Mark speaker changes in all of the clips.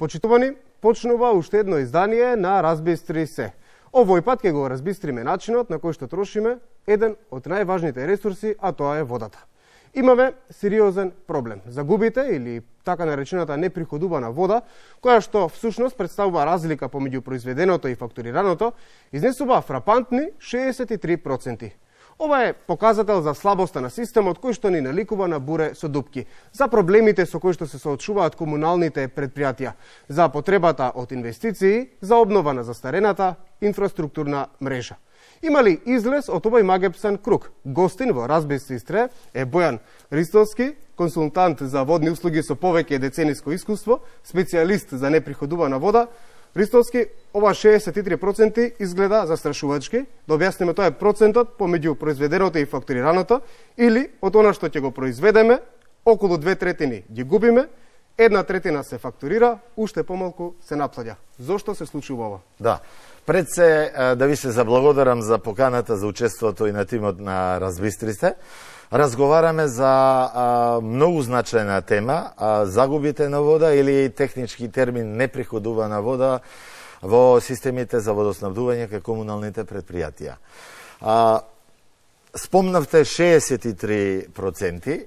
Speaker 1: Почитувани, почнува уште едно издание на Разбистри се. Овој пат ќе го разбистриме начинот на кој што трошиме еден од најважните ресурси, а тоа е водата. Имаме сериозен проблем. Загубите или така наречената неприходувана вода, која што всушност представува разлика помеѓу произведеното и фактурираното, изнесува фрапантни 63%. Ова е показател за слабоста на системот кој што ни наликува на буре со дупки, за проблемите со кои што се соочуваат комуналните предпријатија, за потребата од инвестиции, за обнова на застарената инфраструктурна мрежа. Има ли излез од овој магепсан круг? Гостин во Разбистри Истре е Бојан Ристовски, консултант за водни услуги со повеќе децениско искуство, специјалист за неприходувана вода. Ристовски, ова 63% изгледа застрашувачки. Да објасниме, тоа е процентот помеѓу произведеното и фактурираното, или од она што ќе го произведеме, околу 2/3 ги губиме, 1/3 се фактурира, уште помалку се наплаќа. Зошто се случува ова?
Speaker 2: Да. Пред се да ви се заблагодарам за поканата за учеството и на тимот на Разбистри се. Разговараме за многу значајна тема, загубите на вода или технички термин неприходувана вода во системите за водоснабдување кај комуналните предпријатија. Спомнавте 63%.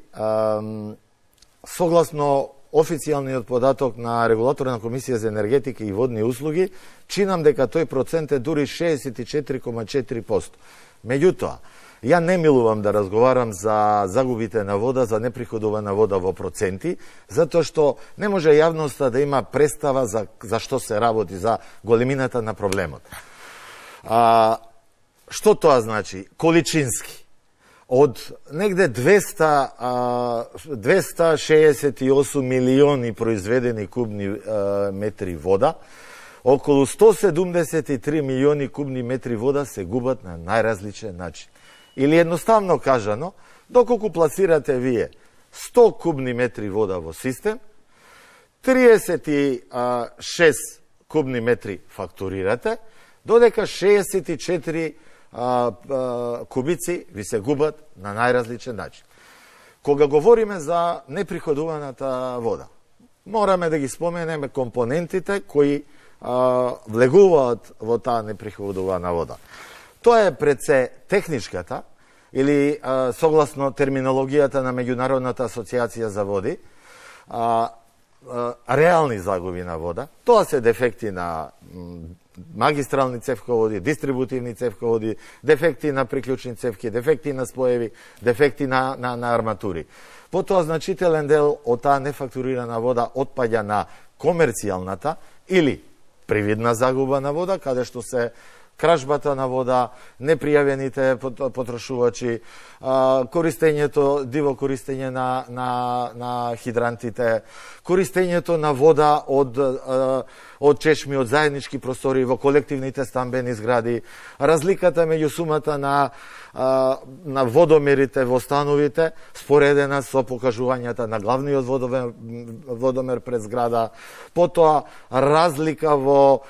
Speaker 2: Согласно официјалниот податок на Регулаторна комисија за енергетика и водни услуги, чинам дека тој процент е дури 64,4%. Меѓутоа, ја не милувам да разговарам за загубите на вода, за неприходувана вода во проценти, затоа што не може јавноста да има представа за што се работи, за големината на проблемот. Што тоа значи? Количински. Од негде 268 милиони произведени кубни метри вода, околу 173 милиони кубни метри вода се губат на најразличен начин. Или едноставно кажано, доколку пласирате вие 100 кубни метри вода во систем, 36 кубни метри фактурирате, додека 64 кубици ви се губат на најразличен начин. Кога говориме за неприходуваната вода, мораме да ги споменеме компонентите кои влегуваат во таа неприходувана вода. Тоа е пред се техничката, или согласно терминологијата на Меѓународната асоциација за води, реални загуби на вода. Тоа се дефекти на магистрални цевководи, дистрибутивни цевководи, дефекти на приклучни цевки, дефекти на споеви, дефекти на арматури. Потоа значителен дел од таа нефактурирана вода отпаѓа на комерцијалната или привидна загуба на вода, каде што се кражбата на вода, непријавените потрошувачи, диво користење на хидрантите, користењето на вода од чешми, од заеднички простори во колективните стамбени згради, разликата меѓу сумата на водомерите во становите, споредена со покажувањата на главниот водомер пред зграда, потоа разлика во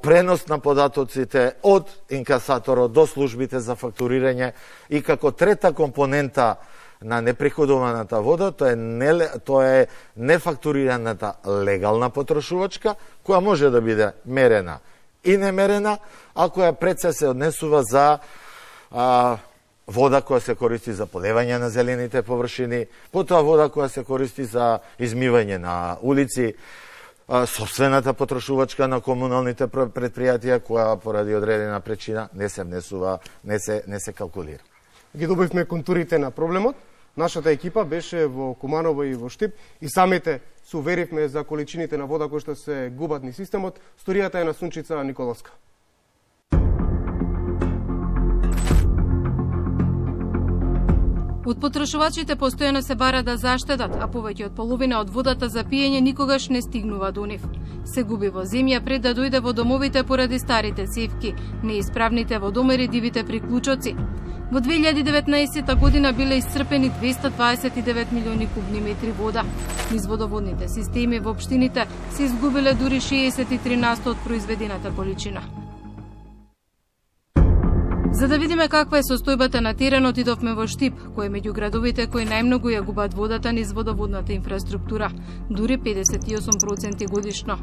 Speaker 2: пренос на податоците од инкасаторот до службите за фактурирање, и како трета компонента на неприходуваната вода, тоа е нефактурираната легална потрошувачка, која може да биде мерена и немерена, а која пред се однесува за вода која се користи за полевање на зелените површини, потоа вода која се користи за измивање на улици, собствената потрошувачка на комуналните предпријатија, која поради одредена причина не се внесува, не се калкулира.
Speaker 1: Ги добивме контурите на проблемот. Нашата екипа беше во Куманово и во Штип и самите се уверивме за количините на вода кои што се губат низ системот. Сторијата е на Сунчица Николовска.
Speaker 3: Од потрошувачите постојано се бара да заштедат, а повеќе од половина од водата за пиење никогаш не стигнува до нив. Се губи во земја пред да дојде во домовите поради старите цевки, неисправните водомери, дивите приклучоци. Во 2019 година биле исцрпени 229 милиони кубни метри вода. Низ водоводните системи во општините се изгубиле дури 63% од произведената количина. За да видиме каква е состојбата на теренот, идовме во Штип, кој е меѓу градовите кои најмногу ја губат водата низ водоводната инфраструктура, дури 58% годишно.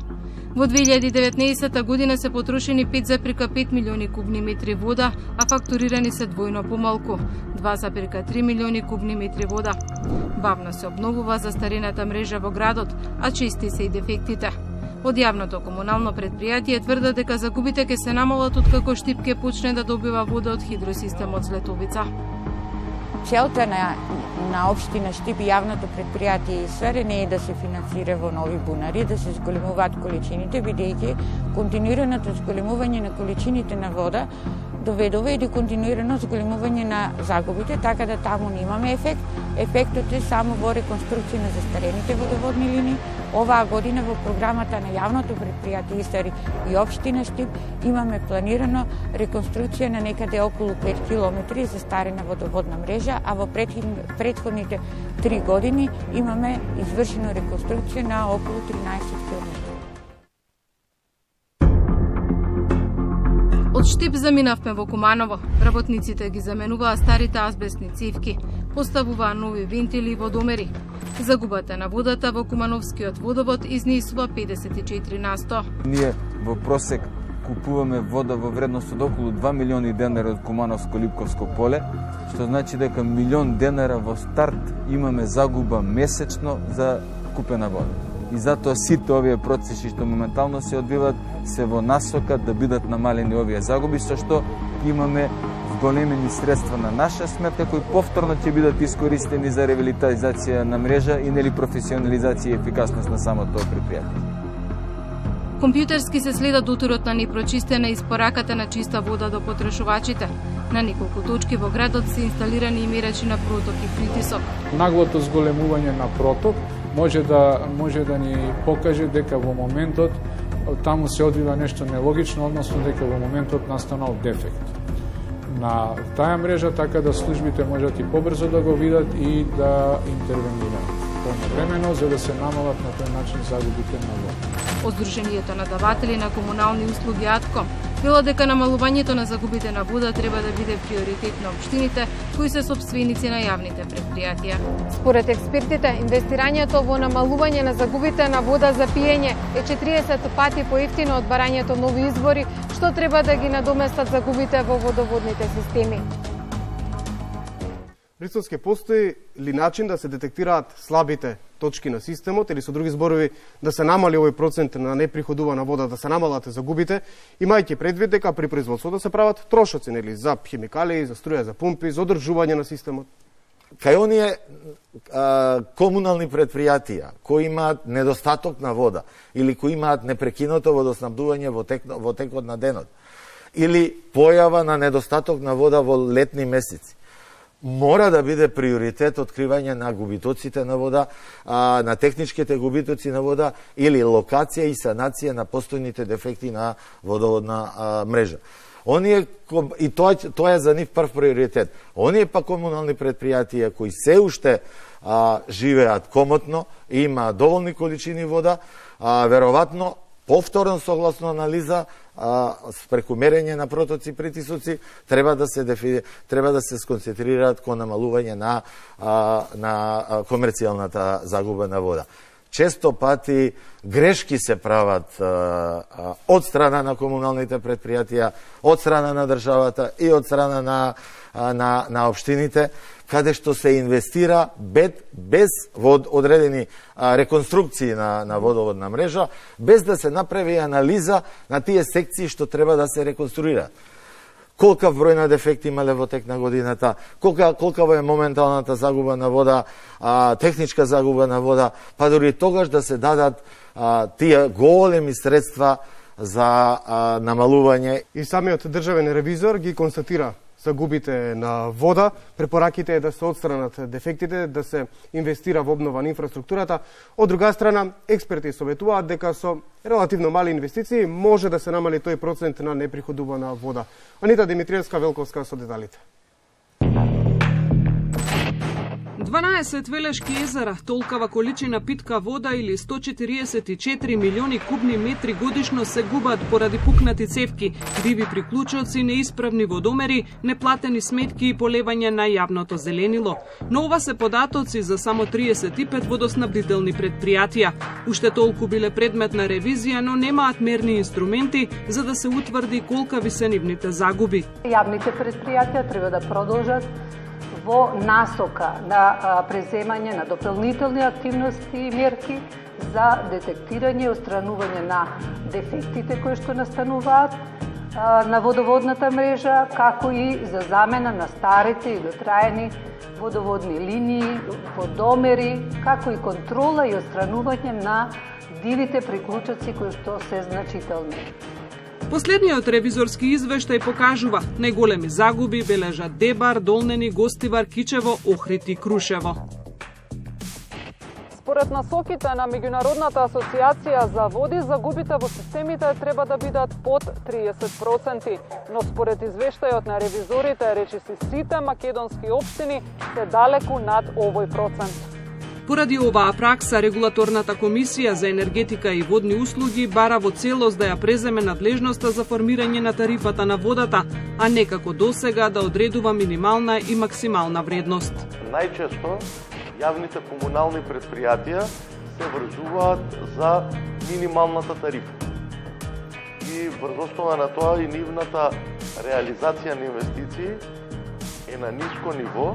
Speaker 3: Во 2019 година се потрошени 5,5 милиони кубни метри вода, а фактурирани се двојно помалку, 2,3 милиони кубни метри вода. Бавно се обновува застарената мрежа во градот, а чести се и дефектите. Од јавното комунално предпријатие тврдат дека загубите ќе се намалат откако Штип ќе почне да добива вода од хидросистемот Злетовица.
Speaker 4: Целта на општина Штип и јавното предпријатие ИСР не е да се финансира во нови бунари, да се зголемуваат количините, бидејќи континуираното зголемување на количините на вода доведува и до континуирано зголемување на загубите, така да таму немаме ефект. Ефектот е само во реконструкција на застарените водоводни линии. Оваа година во програмата на јавното предпријатие ИСР и општина Штип имаме планирано реконструкција на некаде околу 5 километри застарена водоводна мрежа, а во претходните 3 години имаме извршено реконструкција на околу 13 километри.
Speaker 3: Од Штип заминавме во Куманово. Работниците ги заменуваа старите азбестни цевки, поставуваа нови вентили и водомери. Загубата на водата во Кумановскиот водовод изнесува 54%.
Speaker 5: Ние во просек купуваме вода во вредност од околу 2 милиони денари од Кумановско-Липковско поле, што значи дека милион денара во старт имаме загуба месечно за купена вода. И затоа сите овие процеси што моментално се одвиваат се во насока да бидат намалени овие загуби, со што имаме зголемени средства на наша сметка кои повторно ќе бидат искористени за ревитализација на мрежа и нели професионализација и ефикасност на самото предпријатие.
Speaker 3: Компјутерски се следа дотурот на непрочистена испораката на чиста вода до потрошувачите. На неколку точки во градот се инсталирани и мерачи на проток и притисок.
Speaker 6: Наглото зголемување на проток може да ни покаже дека во моментот таму се одвива нешто нелогично, односно дека во моментот настанал дефект на таа мрежа, така да службите можат и побрзо да го видат и да интервенираат повремено, за да се намалат на тој начин загубите на вода.
Speaker 3: Од Сдруженијето на даватели на комунални услуги АТКОМ вело дека намалувањето на загубите на вода треба да биде приоритет на општините кои се сопственици на јавните предпријатија.
Speaker 7: Според експертите, инвестирањето во намалување на загубите на вода за пиење е 40 пати поевтино од барањето нови извори, што треба да ги надоместат загубите во водоводните системи.
Speaker 1: Брисовски, постои ли начин да се детектираат слабите точки на системот или со други зборови да се намали овој процент на неприходувана вода, да се намалат загубите, имајќи предвид дека при производството се прават трошоци, нели, за хемикали, за струја, за пумпи, за одржување на системот?
Speaker 2: Кај оние комунални предпријатија кои имаат недостаток на вода или кои имаат непрекинато водоснабдување во текот на денот или појава на недостаток на вода во летни месеци, мора да биде приоритет откривање на губитоците на вода, на техничките губитоци на вода или локација и санација на постојните дефекти на водоводна мрежа. И тоа е за нив прв приоритет. Оние па комунални предпријатија кои се уште живеат комотно и имаат доволни количини вода, веројатно повторно согласно анализа преку мерење на протоци и притисоци треба да се сконцентрираат кон намалување на комерцијалната загуба на вода. Често пати грешки се прават од страна на комуналните предпријатија, од страна на државата и од страна на општините, каде што се инвестира без одредени реконструкции на водоводна мрежа, без да се направи анализа на тие секции што треба да се реконструираат. Колкав број на дефекти имале во тек на годината, колкава е моменталната загуба на вода, техничка загуба на вода, па дори тогаш да се дадат тие големи средства за намалување.
Speaker 1: И самиот државен ревизор ги констатира загубите на вода, препораките е да се отстранат дефектите, да се инвестира во обнова на инфраструктурата. Од друга страна, експерти советуваат дека со релативно мали инвестиции може да се намали тој процент на неприходувана вода. Анита Димитриевска-Велковска со деталите.
Speaker 8: 12 велешки езера, толкава количина питка вода или 144 милиони кубни метри годишно се губат поради пукнати цевки, диви приклучоци, неисправни водомери, неплатени сметки и полевање на јавното зеленило. Но ова се податоци за само 35 водоснабдителни предпријатија. Уште толку биле предмет на ревизија, но немаат мерни инструменти за да се утврди колкави се нивните загуби.
Speaker 9: Јавните предпријатија треба да продолжат во насока на преземање на дополнителни активности и мерки за детектирање и отстранување на дефектите кои што настануваат на водоводната мрежа, како и за замена на старите и дотраени водоводни линии, водомери, како и контрола и отстранување на дивите приклучоци кои што се значителни.
Speaker 8: Последниот ревизорски извештај покажува најголеми загуби бележат Дебар, Долнени, Гостивар, Кичево, Охрид и Крушево.
Speaker 10: Според насоките на Меѓународната асоциација за води, загубите во системите треба да бидат под 30%, но според извештајот на ревизорите, речиси сите македонски општини се далеку над овој процент.
Speaker 8: Поради оваа пракса, Регулаторната комисија за енергетика и водни услуги бара во целост да ја преземе надлежноста за формирање на тарифата на водата, а не како досега да одредува минимална и максимална вредност.
Speaker 11: Најчесто јавните комунални предпријатија се врзуваат за минималната тарифа. И врз основа на тоа и нивната реализација на инвестиции е на ниско ниво,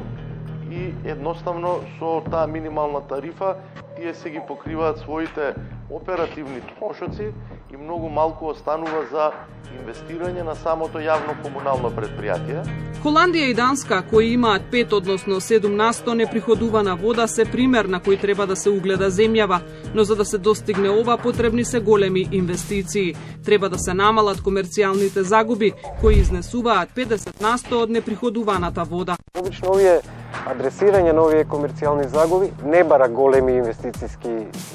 Speaker 11: и едноставно со таа минимална тарифа тие се ги покриваат своите оперативни трошоци и многу малку останува за инвестирање на самото јавно комунално предпријатие.
Speaker 8: Холандија и Данска, кои имаат 5 односно 7% неприходувана вода, се пример на кој треба да се угледа земјава, но за да се достигне ова потребни се големи инвестиции. Треба да се намалат комерцијалните загуби, кои изнесуваат 50% од неприходуваната вода.
Speaker 12: Обично адресирање на овие комерцијални загуби не бара големи инвестициски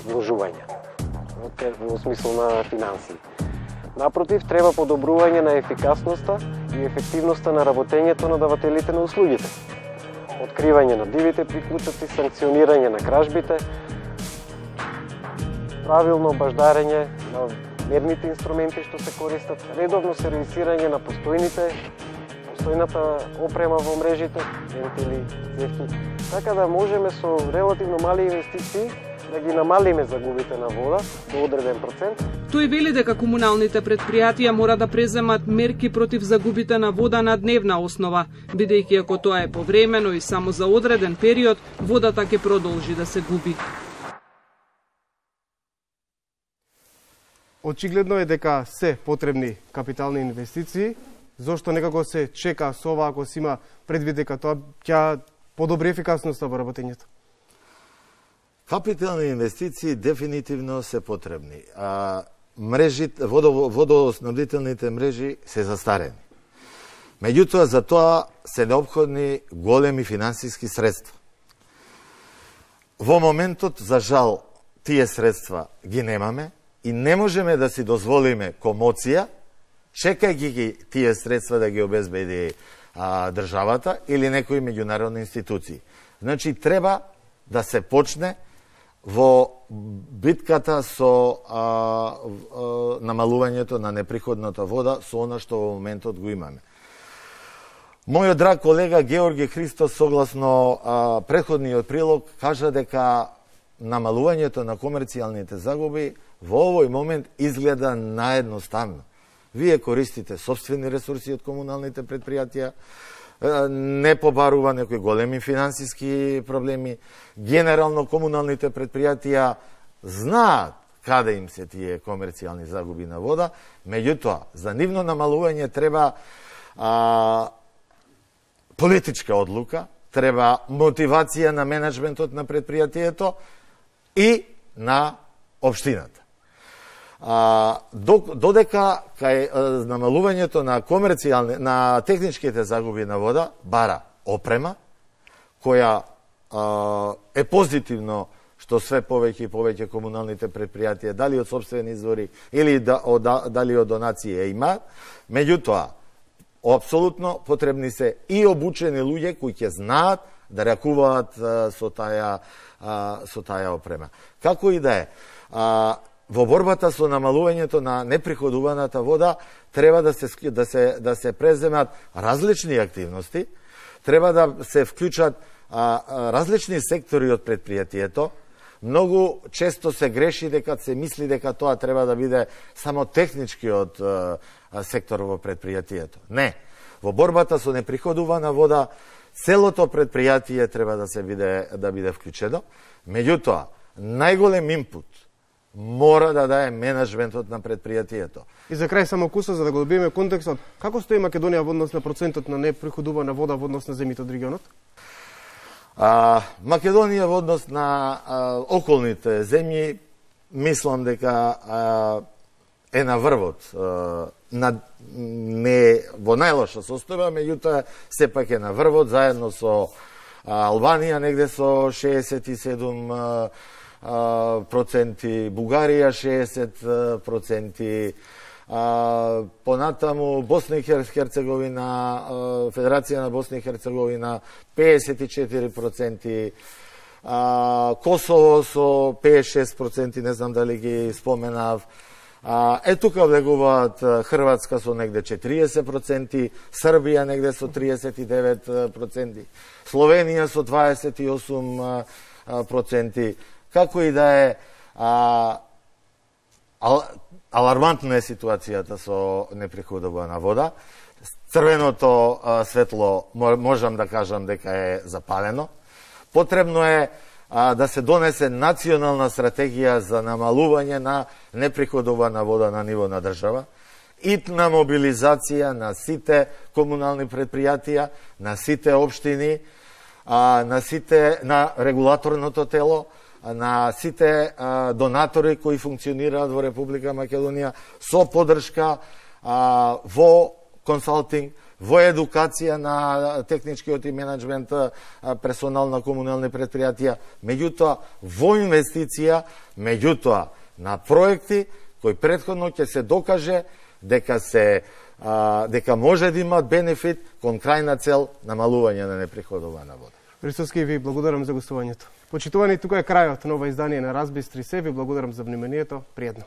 Speaker 12: вложувања во смисла на финансии. Напротив, треба подобрување на ефикасноста и ефективноста на работењето на давателите на услугите. Откривање на дивите приклучоци, санкционирање на кражбите, правилно баждарење на мерните инструменти што се користат, редовно сервисирање на постојната опрема во мрежите, вентили, цевки, така да можеме со релативно мали инвестиции да ги намалиме загубите на вода до одреден процент.
Speaker 8: Тој вели дека комуналните предпријатија мора да преземат мерки против загубите на вода на дневна основа, бидејќи ако тоа е повремено и само за одреден период, водата ќе продолжи да се губи.
Speaker 1: Очигледно е дека се потребни капитални инвестиции, зошто некако се чека со ова ако се има предвид дека тоа ќе подобри ефикасноста во работењето?
Speaker 2: Капитални инвестиции дефинитивно се потребни. Водоснабдителните мрежи се застарени. Меѓутоа, за тоа се необходни големи финансиски средства. Во моментот, за жал, тие средства ги немаме и не можеме да си дозволиме комоција, чекајќи ги тие средства да ги обезбеди државата или некои меѓународни институции. Значи, треба да се почне во битката со намалувањето на неприходната вода со она што во моментот го имаме. Мојот драг колега Георги Христос, согласно претходниот прилог, кажа дека намалувањето на комерцијалните загуби во овој момент изгледа наедноставно. Вие користите собствени ресурси од комуналните предпријатија, не побарува некои големи финансиски проблеми. Генерално комуналните предпријатија знаат каде им се тие комерцијални загуби на вода, меѓутоа, за нивно намалување треба политичка одлука, треба мотивација на менеджментот на предпријатието и на општината. Додека кај намалувањето на техничките загуби на вода бара опрема, која е позитивно што све повеќе и повеќе комуналните предпријатија, дали од собствени извори или дали од донации има, меѓутоа, апсолутно потребни се и обучени луѓе кои ќе знаат да ракуваат со таа опрема. Како и да е, во борбата со намалувањето на неприходуваната вода треба да се преземат различни активности, треба да се вклучат различни сектори од предпријатието. Многу често се греши дека се мисли дека тоа треба да биде само техничкиот сектор во предпријатието. Не. Во борбата со неприходувана вода целото предпријатие треба да биде вклучено. Меѓутоа, најголем импут мора да даде менеджментот на предпријатието.
Speaker 1: И за крај само куса, за да го добиеме контекстот, како стои Македонија во однос на процентот на неприходувана вода во однос на земјите од регионот?
Speaker 2: Македонија во однос на околните земји, мислам дека е на врвот, не во најлоша состојба, меѓутоа сепак е на врвот, заедно со Албанија негде со 67%, Бугарија 60%, понатаму Босна и Херцеговина, Федерација на Босна и Херцеговина 54%, Косово со 56%, не знам дали ги споменав. Тука влегуваат Хрватска со негде 40%, Србија негде со 39%, Словенија со 28%. Како и да е, алармантна е ситуацијата со неприходувана вода. Црвеното светло можам да кажам дека е запалено. Потребно е да се донесе национална стратегија за намалување на неприходувана вода на ниво на држава, итна мобилизација на сите комунални предпријатија, на сите општини, на регулаторното тело, на сите донатори кои функционираат во Република Македонија, со поддршка во консалтинг, во едукација на техничкиот и менеджмент персонал на комунални предпријатија, меѓутоа во инвестиција, меѓутоа на проекти кои претходно ќе се докаже дека може да имат бенефит кон крајна цел намалување на неприходувана вода.
Speaker 1: Ристовски, ви благодарам за гостувањето. Почитувани, тука е крајот на ова издание на Разбистри се. Ви благодарам за вниманието. Пријатно.